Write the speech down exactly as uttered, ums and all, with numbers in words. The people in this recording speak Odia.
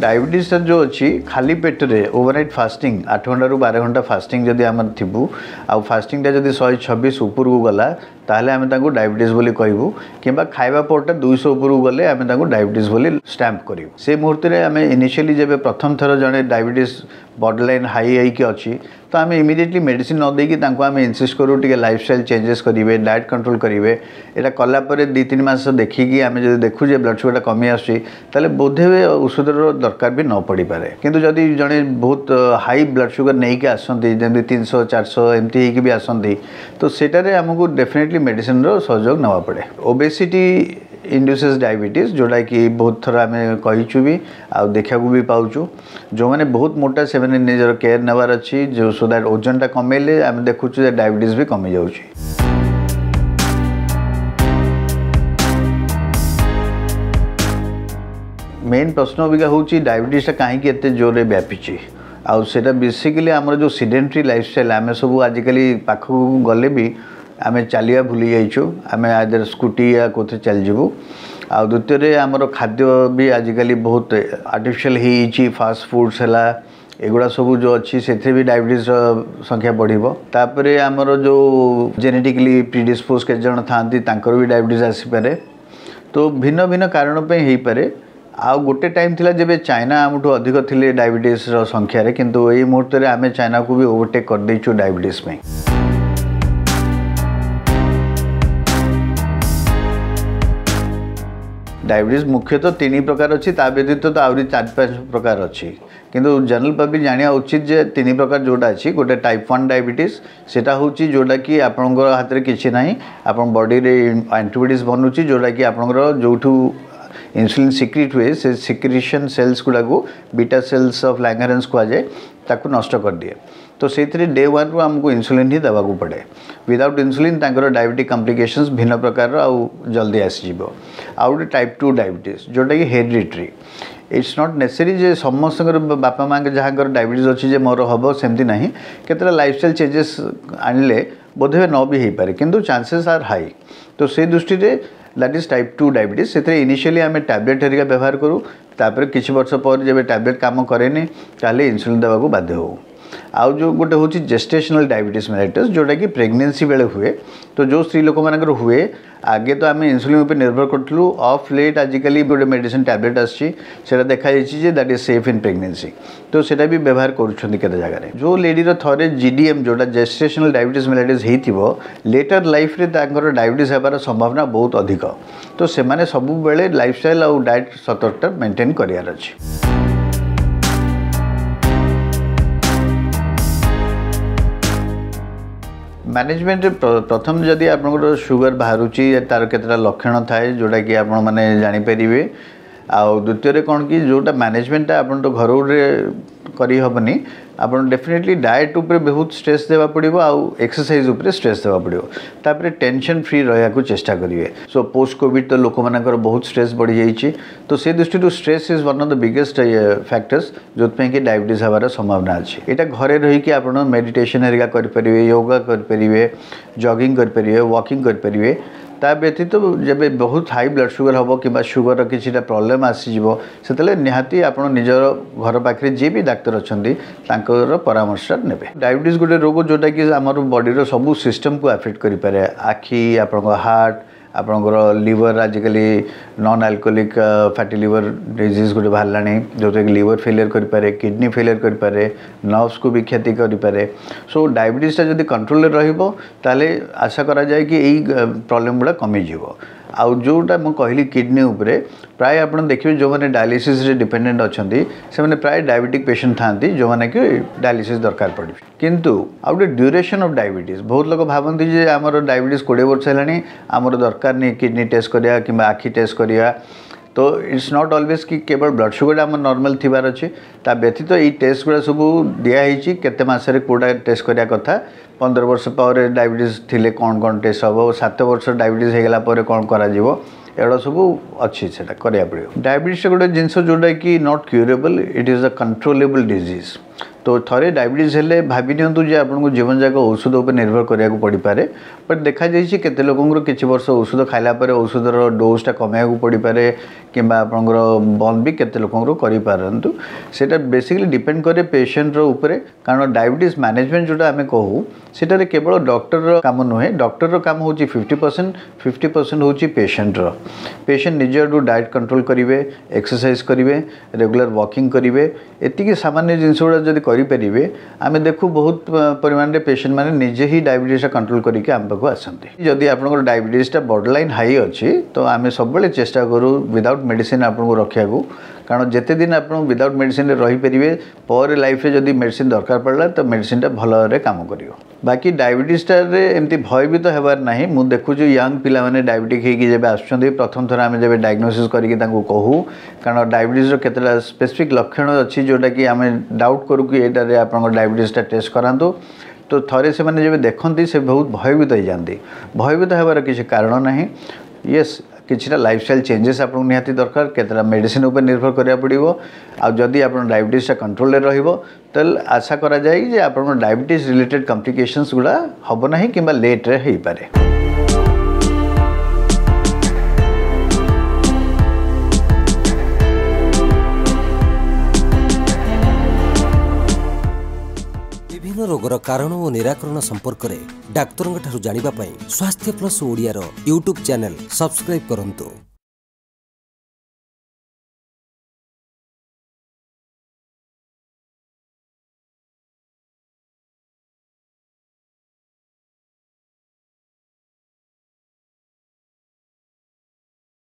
ଡାଇବେଟିସ୍ଟା ଯେଉଁ ଅଛି ଖାଲି ପେଟରେ ଓଭରନାଇଟ୍ ଫାଷ୍ଟିଂ ଆଠ ଘଣ୍ଟାରୁ ବାର ଘଣ୍ଟା ଫାଷ୍ଟିଂ ଯଦି ଆମର ଥିବୁ ଆଉ ଫାଷ୍ଟିଂଟା ଯଦି ଶହେ ଛବିଶ ଉପରକୁ ଗଲା ତାହେଲେ ଆମେ ତାଙ୍କୁ ଡାଇବେଟିସ୍ ବୋଲି କହିବୁ କିମ୍ବା ଖାଇବା ପରଟା ଦୁଇଶହ ଉପରକୁ ଗଲେ ଆମେ ତାଙ୍କୁ ଡାଇବେଟିସ୍ ବୋଲି ଷ୍ଟାମ୍ପ କରିବୁ। ସେ ମୁହୂର୍ତ୍ତରେ ଆମେ ଇନିସିଆଲି ଯେବେ ପ୍ରଥମ ଥର ଜଣେ ଡାଇବେଟିସ୍ ବର୍ଡର ଲାଇନ୍ ହାଇ ହେଇକି ଅଛି ତ ଆମେ ଇମିଡ଼ିଏଟଲି ମେଡ଼ିସିନ ନ ଦେଇକି ତାଙ୍କୁ ଆମେ ଇନସିଷ୍ଟ କରୁ ଟିକେ ଲାଇଫଷ୍ଟାଇଲ୍ ଚେଞ୍ଜେସ୍ କରିବେ, ଡାଏଟ୍ କଣ୍ଟ୍ରୋଲ୍ କରିବେ। ଏଇଟା କଲା ପରେ ଦୁଇ ତିନି ମାସ ଦେଖିକି ଆମେ ଯଦି ଦେଖୁ ଯେ ବ୍ଲଡ଼ ସୁଗରଟା କମି ଆସୁଛି ତାହେଲେ ବୋଧହୁଏ ଔଷଧର ଦରକାର ବି ନ ପଡ଼ିପାରେ। କିନ୍ତୁ ଯଦି ଜଣେ ବହୁତ ହାଇ ବ୍ଲଡ଼ ସୁଗର ନେଇକି ଆସନ୍ତି, ଯେମିତି ତିନିଶହ ଚାରିଶହ ଏମିତି ହେଇକି ବି ଆସନ୍ତି, ତ ସେଇଟାରେ ଆମକୁ ଡେଫିନେଟଲି ମେଡ଼ିସିନର ସହଯୋଗ ନେବାକୁ ପଡ଼େ। ଓବେସିଟି ଇଣ୍ଡ୍ୟୁସେସ୍ ଡାଇବେଟିସ୍, ଯେଉଁଟାକି ବହୁତ ଥର ଆମେ କହିଛୁ ବି ଆଉ ଦେଖିବାକୁ ବି ପାଉଛୁ। ଯେଉଁମାନେ ବହୁତ ମୋଟା ସେମାନେ ନିଜର କେୟାର ନେବାର ଅଛି, ଯେଉଁ ସୋ that ଓଜନଟା କମେଇଲେ ଆମେ ଦେଖୁଛୁ ଯେ ଡାଇବେଟିସ୍ ବି କମିଯାଉଛି। ମେନ୍ ପ୍ରଶ୍ନ ଅବିକା ହେଉଛି ଡାଇବେଟିସ୍ଟା କାହିଁକି ଏତେ ଜୋରରେ ବ୍ୟାପିଛି। ଆଉ ସେଇଟା ବେସିକାଲି ଆମର ଯେଉଁ ସିଡେଣ୍ଟାରୀ ଲାଇଫଷ୍ଟାଇଲ୍, ଆମେ ସବୁ ଆଜିକାଲି ପାଖକୁ ଗଲେ ବି ଆମେ ଚାଲିବା ଭୁଲି ଯାଇଛୁ, ଆମେ ଆଇଦର ସ୍କୁଟି ୟା କେଉଁଥିରେ ଚାଲିଯିବୁ। ଆଉ ଦ୍ୱିତୀୟରେ ଆମର ଖାଦ୍ୟ ବି ଆଜିକାଲି ବହୁତ ଆର୍ଟିଫିସିଆଲ୍ ହେଇଯାଇଛି, ଫାଷ୍ଟ ଫୁଡ଼୍ସ ହେଲା ଏଗୁଡ଼ା ସବୁ ଯେଉଁ ଅଛି ସେଥିରେ ବି ଡାଇବେଟିସ୍ର ସଂଖ୍ୟା ବଢ଼ିବ। ତାପରେ ଆମର ଯେଉଁ ଜେନେଟିକାଲି ପ୍ରିଡିସ୍ପୋଜ୍ କେତେ ଜଣ ଥାଆନ୍ତି ତାଙ୍କର ବି ଡାଇବେଟିସ୍ ଆସିପାରେ। ତ ଭିନ୍ନ ଭିନ୍ନ କାରଣ ପାଇଁ ହେଇପାରେ। ଆଉ ଗୋଟେ ଟାଇମ୍ ଥିଲା ଯେବେ ଚାଇନା ଆମଠୁ ଅଧିକ ଥିଲେ ଡାଇବେଟିସ୍ର ସଂଖ୍ୟାରେ, କିନ୍ତୁ ଏଇ ମୁହୂର୍ତ୍ତରେ ଆମେ ଚାଇନାକୁ ବି ଓଭରଟେକ୍ କରିଦେଇଛୁ ଡାଇବେଟିସ୍ ପାଇଁ। ଡାଇବେଟିସ୍ ମୁଖ୍ୟତଃ ତିନି ପ୍ରକାର ଅଛି, ତା ବ୍ୟତୀତ ତ ଆହୁରି ଚାରି ପାଞ୍ଚ ପ୍ରକାର ଅଛି। କିନ୍ତୁ ଜେନେରାଲ ପବ୍ଲିକ୍ ଜାଣିବା ଉଚିତ ଯେ ତିନି ପ୍ରକାର ଯେଉଁଟା ଅଛି, ଗୋଟେ ଟାଇପ୍ ୱାନ୍ ଡାଇବେଟିସ୍, ସେଇଟା ହେଉଛି ଯେଉଁଟାକି ଆପଣଙ୍କର ହାତରେ କିଛି ନାହିଁ, ଆପଣ ବଡ଼ିରେ ଆଣ୍ଟିବଡ଼ିଜ୍ ବନୁଛି ଯେଉଁଟାକି ଆପଣଙ୍କର ଯେଉଁଠୁ ଇନ୍ସୁଲିନ୍ ସିକ୍ରିଟ୍ ହୁଏ ସେ ସିକ୍ରିସନ୍ ସେଲ୍ସ ଗୁଡ଼ାକୁ ବିଟା ସେଲ୍ସ ଅଫ୍ ଲାଙ୍ଗହାରେନ୍ସ କୁହାଯାଏ, ତାକୁ ନଷ୍ଟ କରିଦିଏ। ତ ସେଇଥିରେ ଡେ ୱାନ୍ରୁ ଆମକୁ ଇନ୍ସୁଲିନ୍ ହିଁ ଦେବାକୁ ପଡ଼େ। ୱିଦାଉଟ୍ ଇନ୍ସୁଲିନ୍ ତାଙ୍କର ଡାଇବେଟିକ୍ କମ୍ପ୍ଲିକେସନ୍ସ ଭିନ୍ନ ପ୍ରକାରର ଆଉ ଜଲ୍ଦି ଆସିଯିବ। ଆଉ ଗୋଟେ ଟାଇପ୍ ଟୁ ଡାଇବେଟିସ୍ ଯେଉଁଟାକି ହେରିଡ଼ିଟ୍ରି। It's not ନେସେରୀ ଯେ ସମସ୍ତଙ୍କର ବାପା ମାଆଙ୍କ ଯାହାଙ୍କର ଡାଇବେଟିସ୍ ଅଛି ଯେ ମୋର ହେବ ସେମିତି ନାହିଁ। କେତେଟା ଲାଇଫଷ୍ଟାଇଲ୍ ଚେଞ୍ଜେସ୍ ଆଣିଲେ ବୋଧହୁଏ ନ ବି ହେଇପାରେ, କିନ୍ତୁ ଚାନ୍ସେସ୍ ଆର୍ ହାଇ। ତ ସେଇ ଦୃଷ୍ଟିରେ that is type two diabetes. ସେଥିରେ ଇନିସିଆଲି ଆମେ ଟ୍ୟାବଲେଟ୍ ହେରିକା ବ୍ୟବହାର କରୁ, ତାପରେ କିଛି ବର୍ଷ ପରେ ଯେବେ ଟ୍ୟାବଲେଟ୍ କାମ କରେନି ତାହେଲେ ଇନ୍ସୁଲିନ୍ ଦେବାକୁ ବାଧ୍ୟ ହେଉ। ଆଉ ଯେଉଁ ଗୋଟେ ହେଉଛି ଜେଷ୍ଟେସନାଲ୍ ଡାଇବେଟିସ୍ ମେଲାଇଟସ୍, ଯେଉଁଟାକି ପ୍ରେଗନେନ୍ସି ବେଳେ ହୁଏ। ତ ଯେଉଁ ସ୍ତ୍ରୀ ଲୋକମାନଙ୍କର ହୁଏ, ଆଗେ ତ ଆମେ ଇନ୍ସୁଲିନ୍ ଉପରେ ନିର୍ଭର କରୁଥିଲୁ, ଅଫ୍ ଲେଟ୍ ଆଜିକାଲି ଗୋଟେ ମେଡ଼ିସିନ୍ ଟ୍ୟାବଲେଟ୍ ଆସୁଛି, ସେଇଟା ଦେଖାଯାଇଛି ଯେ that is safe in pregnancy, ତ ସେଇଟା ବି ବ୍ୟବହାର କରୁଛନ୍ତି କେତେ ଜାଗାରେ। ଯେଉଁ ଲେଡ଼ିର ଥରେ ଜି ଡି ଏମ୍ ଯେଉଁଟା ଜେଷ୍ଟେସନାଲ୍ ଡାଇବେଟିସ୍ ମେଲାଇଟସ୍ ହେଇଥିବ, ଲେଟର୍ ଲାଇଫ୍ରେ ତାଙ୍କର ଡାଇବେଟିସ୍ ହେବାର ସମ୍ଭାବନା ବହୁତ ଅଧିକ। ତ ସେମାନେ ସବୁବେଳେ ଲାଇଫଷ୍ଟାଇଲ୍ ଆଉ ଡାଏଟ୍ ସତର୍କତା ମେଣ୍ଟେନ୍ କରିବାର ଅଛି। ମ୍ୟାନେଜମେଣ୍ଟରେ ପ୍ରଥମ ଯଦି ଆପଣଙ୍କର ସୁଗର ବାହାରୁଛି ତାର କେତେଟା ଲକ୍ଷଣ ଥାଏ ଯେଉଁଟାକି ଆପଣମାନେ ଜାଣିପାରିବେ। ଆଉ ଦ୍ୱିତୀୟରେ କ'ଣ କି ଯେଉଁଟା ମ୍ୟାନେଜମେଣ୍ଟଟା ଆପଣ ତ ଘରରେ କରିହେବନି, ଆପଣ ଡେଫିନେଟଲି ଡାଏଟ୍ ଉପରେ ବହୁତ ଷ୍ଟ୍ରେସ୍ ଦେବାକୁ ପଡ଼ିବ ଆଉ ଏକ୍ସରସାଇଜ୍ ଉପରେ ଷ୍ଟ୍ରେସ୍ ଦେବାକୁ ପଡ଼ିବ। ତାପରେ ଟେନସନ୍ ଫ୍ରି ରହିବାକୁ ଚେଷ୍ଟା କରିବେ। ସୋ ପୋଷ୍ଟ କୋଭିଡ଼ ତ ଲୋକମାନଙ୍କର ବହୁତ ଷ୍ଟ୍ରେସ୍ ବଢ଼ିଯାଇଛି, ତ ସେ ଦୃଷ୍ଟିରୁ stress is one of the biggest factors ଯେଉଁଥିପାଇଁ କି ଡାଇବେଟିସ୍ ହେବାର ସମ୍ଭାବନା ଅଛି। ଏଇଟା ଘରେ ରହିକି ଆପଣ ମେଡ଼ିଟେସନ୍ ହେରିକା କରିପାରିବେ, ୟୋଗା କରିପାରିବେ, ଜଗିଂ କରିପାରିବେ, ୱାକିଂ କରିପାରିବେ। ତା ବ୍ୟତୀତ ଯେବେ ବହୁତ ହାଇ ବ୍ଲଡ଼ ସୁଗର ହେବ କିମ୍ବା ସୁଗରର କିଛିଟା ପ୍ରୋବ୍ଲେମ୍ ଆସିଯିବ, ସେତେବେଳେ ନିହାତି ଆପଣ ନିଜର ଘର ପାଖରେ ଯିଏ ବି ଡାକ୍ତର ଅଛନ୍ତି ତାଙ୍କର ପରାମର୍ଶ ନେବେ। ଡାଇବେଟିସ୍ ଗୋଟେ ରୋଗ ଯେଉଁଟାକି ଆମର ବଡ଼ିର ସବୁ ସିଷ୍ଟମକୁ ଆଫେକ୍ଟ କରିପାରେ। ଆଖି, ଆପଣଙ୍କ ହାର୍ଟ, ଆପଣଙ୍କର ଲିଭର, ଆଜିକାଲି non alcoholic fatty liver disease ଗୋଟେ ବାହାରିଲାଣି ଯେଉଁଟାକି ଲିଭର ଫେଲିୟର କରିପାରେ, କିଡ଼ନୀ ଫେଲିୟର କରିପାରେ, ନର୍ଭସକୁ ବି କ୍ଷତି କରିପାରେ। ସୋ ଡାଇବେଟିସ୍ଟା ଯଦି କଣ୍ଟ୍ରୋଲରେ ରହିବ ତାହେଲେ ଆଶା କରାଯାଏ କି ଏଇ ପ୍ରୋବ୍ଲେମ୍ ଗୁଡ଼ା କମିଯିବ। ଆଉ ଯେଉଁଟା ମୁଁ କହିଲି କିଡ଼ନୀ ଉପରେ, ପ୍ରାୟ ଆପଣ ଦେଖିବେ ଯେଉଁମାନେ ଡାୟାଲିସିସ୍ରେ ଡିପେଣ୍ଡେଣ୍ଟ ଅଛନ୍ତି ସେମାନେ ପ୍ରାୟ ଡାଇବେଟିକ୍ ପେସେଣ୍ଟ ଥାଆନ୍ତି ଯେଉଁମାନେ କି ଡାୟାଲିସିସ୍ ଦରକାର ପଡ଼ିବ। କିନ୍ତୁ ଆଉ ଗୋଟେ ଡ୍ୟୁରେସନ୍ ଅଫ୍ ଡାଇବେଟିସ୍, ବହୁତ ଲୋକ ଭାବନ୍ତି ଯେ ଆମର ଡାଇବେଟିସ୍ କୋଡ଼ିଏ ବର୍ଷ ହେଲାଣି, ଆମର ଦରକାର ନାହିଁ କିଡ଼ନୀ ଟେଷ୍ଟ କରିବା କିମ୍ବା ଆଖି ଟେଷ୍ଟ କରିବା। ତ it's not always କି କେବଳ ବ୍ଲଡ଼ ସୁଗରଟା ଆମର ନର୍ମାଲ୍ ଥିବାର ଅଛି, ତା ବ୍ୟତୀତ ଏଇ ଟେଷ୍ଟ ଗୁଡ଼ା ସବୁ ଦିଆହେଇଛି କେତେ ମାସରେ କେଉଁଟା ଟେଷ୍ଟ କରିବା କଥା। ପନ୍ଦର ବର୍ଷ ପରେ ଡାଇବେଟିସ୍ ଥିଲେ କ'ଣ କ'ଣ ଟେଷ୍ଟ ହେବ, ସାତ ବର୍ଷ ଡାଇବେଟିସ୍ ହେଇଗଲା ପରେ କ'ଣ କରାଯିବ, ଏଗୁଡ଼ା ସବୁ ଅଛି, ସେଇଟା କରିବାକୁ ପଡ଼ିବ। ଡାଇବେଟିସ୍ଟା ଗୋଟେ ଜିନିଷ ଯେଉଁଟାକି not curable, it is a controllable disease. ତ ଥରେ ଡାଇବେଟିସ୍ ହେଲେ ଭାବି ନିଅନ୍ତୁ ଯେ ଆପଣଙ୍କୁ ଜୀବନ ଯାକ ଔଷଧ ଉପରେ ନିର୍ଭର କରିବାକୁ ପଡ଼ିପାରେ। ବଟ୍ ଦେଖାଯାଇଛି କେତେ ଲୋକଙ୍କର କିଛି ବର୍ଷ ଔଷଧ ଖାଇଲା ପରେ ଔଷଧର ଡୋଜ୍ଟା କମାଇବାକୁ ପଡ଼ିପାରେ କିମ୍ବା ଆପଣଙ୍କର ବନ୍ଦ ବି କେତେ ଲୋକଙ୍କର କରିପାରନ୍ତୁ। ସେଇଟା ବେସିକାଲି ଡିପେଣ୍ଡ କରେ ପେସେଣ୍ଟର ଉପରେ, କାରଣ ଡାଇବେଟିସ୍ ମ୍ୟାନେଜମେଣ୍ଟ ଯେଉଁଟା ଆମେ କହୁ ସେଟାରେ କେବଳ ଡକ୍ଟରର କାମ ନୁହେଁ। ଡକ୍ଟରର କାମ ହେଉଛି ଫିଫ୍ଟି ପରସେଣ୍ଟ, ଫିଫ୍ଟି ପରସେଣ୍ଟ ହେଉଛି ପେସେଣ୍ଟର। ପେସେଣ୍ଟ ନିଜ ଆଡ଼ୁ ଡାଏଟ୍ କଣ୍ଟ୍ରୋଲ କରିବେ, ଏକ୍ସରସାଇଜ୍ କରିବେ, ରେଗୁଲାର ୱାକିଂ କରିବେ, ଏତିକି ସାମାନ୍ୟ ଜିନିଷ ଗୁଡ଼ା ଯଦି କରିପାରିବେ, ଆମେ ଦେଖୁ ବହୁତ ପରିମାଣରେ ପେସେଣ୍ଟ ମାନେ ନିଜେ ହିଁ ଡାଇବେଟିସ୍ଟା କଣ୍ଟ୍ରୋଲ କରିକି ଆମ ପାଖକୁ ଆସନ୍ତି। ଯଦି ଆପଣଙ୍କର ଡାଇବେଟିସ୍ଟା ବର୍ଡ଼ର ଲାଇନ୍ ହାଇ ଅଛି, ତ ଆମେ ସବୁବେଳେ ଚେଷ୍ଟା କରୁ ୱିଦାଉଟ୍ ମେଡ଼ିସିନ୍ ଆପଣଙ୍କୁ ରଖିବାକୁ, କାରଣ ଯେତେ ଦିନ ଆପଣ ୱିଦାଉଟ୍ ମେଡ଼ିସିନରେ ରହିପାରିବେ, ପରେ ଲାଇଫ୍ରେ ଯଦି ମେଡ଼ିସିନ୍ ଦରକାର ପଡ଼ିଲା ତ ମେଡ଼ିସିନଟା ଭଲ ଭାବରେ କାମ କରିବ। ବାକି ଡାଇବେଟିସ୍ଟାରେ ଏମିତି ଭୟଭୀତ ହେବାର ନାହିଁ। ମୁଁ ଦେଖୁଛି ୟଙ୍ଗ ପିଲାମାନେ ଡାଇବେଟିକ୍ ହେଇକି ଯେବେ ଆସୁଛନ୍ତି, ପ୍ରଥମ ଥର ଆମେ ଯେବେ ଡାଇଗ୍ନୋସିସ୍ କରିକି ତାଙ୍କୁ କହୁ, କାରଣ ଡାଇବେଟିସ୍ର କେତେଟା ସ୍ପେସିଫିକ୍ ଲକ୍ଷଣ ଅଛି ଯେଉଁଟାକି ଆମେ ଡାଉଟ୍ କରୁ କି ଏଇଟାରେ ଆପଣଙ୍କ ଡାଇବେଟିସ୍ଟା ଟେଷ୍ଟ କରାନ୍ତୁ। ତ ଥରେ ସେମାନେ ଯେବେ ଦେଖନ୍ତି ସେ ବହୁତ ଭୟଭୀତ ହେଇଯାନ୍ତି। ଭୟଭୀତ ହେବାର କିଛି କାରଣ ନାହିଁ। ୟେସ୍, କିଛିଟା ଲାଇଫଷ୍ଟାଇଲ୍ ଚେଞ୍ଜେସ୍ ଆପଣଙ୍କୁ ନିହାତି ଦରକାର, କେତେଟା ମେଡ଼ିସିନ୍ ଉପରେ ନିର୍ଭର କରିବାକୁ ପଡ଼ିବ। ଆଉ ଯଦି ଆପଣ ଡାଇବେଟିସ୍ଟା କଣ୍ଟ୍ରୋଲରେ ରହିବ, ତାହେଲେ ଆଶା କରାଯାଏ ଯେ ଆପଣଙ୍କ ଡାଇବେଟିସ୍ ରିଲେଟେଡ୍ କମ୍ପ୍ଲିକେସନ୍ସ ଗୁଡ଼ା ହେବ ନାହିଁ କିମ୍ବା ଲେଟ୍ରେ ହେଇପାରେ। ବିଭିନ୍ନ ରୋଗର କାରଣ ଓ ନିରାକରଣ ସମ୍ପର୍କରେ ଡାକ୍ତରଙ୍କଠାରୁ ଜାଣିବା ପାଇଁ ସ୍ୱାସ୍ଥ୍ୟ ପ୍ଲସ୍ ଓଡ଼ିଆର ୟୁଟ୍ୟୁବ୍ ଚ୍ୟାନେଲ୍ ସବସ୍କ୍ରାଇବ୍ କରନ୍ତୁ।